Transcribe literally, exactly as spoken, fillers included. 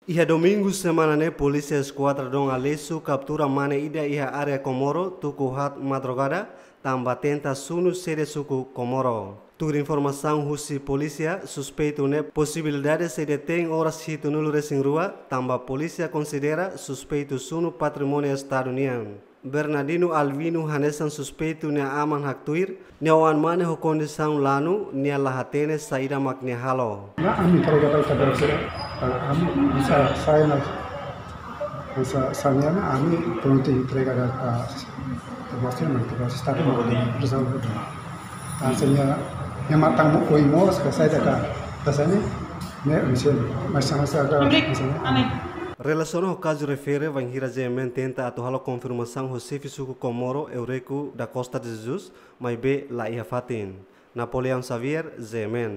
Iha domingu semana ne'e, polísia Eskuadra Dom Aleixo kaptura mane ida iha área Comoro tuku haat madrugada, tanba tenta sunu sede suku Comoro. Tuir informasaun husi polísia, suspeitu ne'e posibilidade sei detein oras hitunulu resin rua, tanba polísia konsidera suspeitu sunu patrimóniu Estadu nian. Bernardino Alvino, hanesan suspeitu nia aman haktuir, nia oan mane ho kondisaun lanu, nia la hatene saida mak nia halo. Nah, ami entrega ba ita berse, ami bisa saya na, bisa saya na, ami pronto entrega ba, ah, termasuk nanti ba Estadu mau rezolve. Hasilnya, yang matang mau koi mos, ke saya dah, rasanya, ne, misalnya, mas sama saya ada, misalnya. Relasiona ho kazu refere, bainhira G M N tenta atu halo konfirmasaun ho xefe suku Comoro, Eurico da Costa de Jesus, maibé la iha fatin. Napoleão Xavier, G M N.